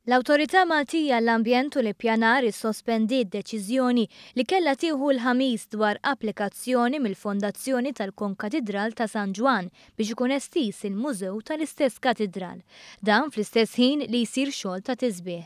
L-Awtorità Maltija għall-Ambjent u l-Ippjanar issospendiet deċiżjoni li kellha tieħu l-Ħamis dwar applikazzjoni mill-Fondazzjoni tal-Konkatidral ta' San Ġwann biex ikun estiż il-mużew tal-istess katidral. Dan fl-istess ħin li jsir xogħol ta' tisbiħ.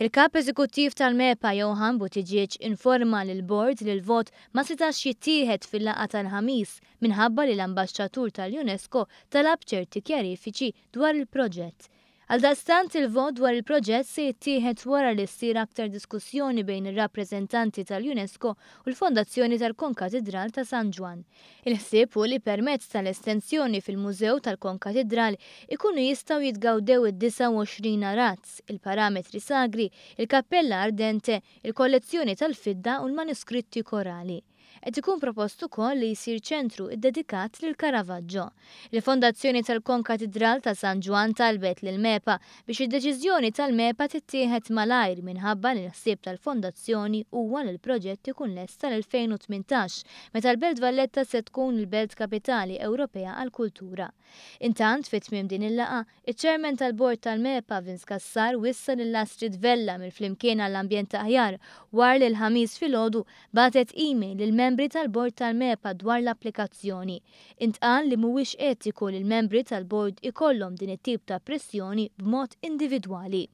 Il-Kap Eżekuttiv tal-MEPA Johann Buttigieg informa lill-Bord li l-vot ma setax jittieħed fil-laqgħa tal-Ħamis minħabba li l-Ambaxxatur tal-UNESCO talab ċerti kjarifiċi dwar il-proġett. Għaldaqstant il-vot dwar il-proġett se jittieħed wara li ssir aktar diskussjoni bejn ir-rappreżentanti tal-UNESCO u l-Fondazzjoni tal-Konkatidral ta' San Ġwann. Il-ħsieb hu li permezz tal-estensjoni fil-Mużew tal-Konkatidral ikunu jistgħu jitgawdew id-29 arazz, il-parametri sagri, il-Kappella Ardente, il-kollezzjoni tal-fidda u l-manuskritti korali. Qed ikun propost ukoll li jsir ċentru ddedikat lil Caravaggio. Il-Fondazzjoni tal-Konkatidral ta' San Ġwann talbet lill-MEPA biex id-deċiżjoni tal-MEPA tittieħed malajr minħabba li l-ħsieb tal-fondazzjoni huwa li l-proġett ikun lest sal-2018 meta l-Belt Valletta se tkun il-Belt Kapitali Ewropea għall-Kultura. Intant, fi tmiem din il-laqgħa, Iċ-Chairman tal-Bord tal-MEPA, Vince Cassar, wissa lil Astrid Vella mill-Flimkien għall-Ambjent Aħjar war li l-Ħamis filgħodu bagħtet email lill-membri tal-Bord tal-MEPA dwar l-applikazzjoni. Intqal li mhuwiex etiku li l-membri tal-Bord ikollhom din it-tip ta' pressjoni b'mod individwali.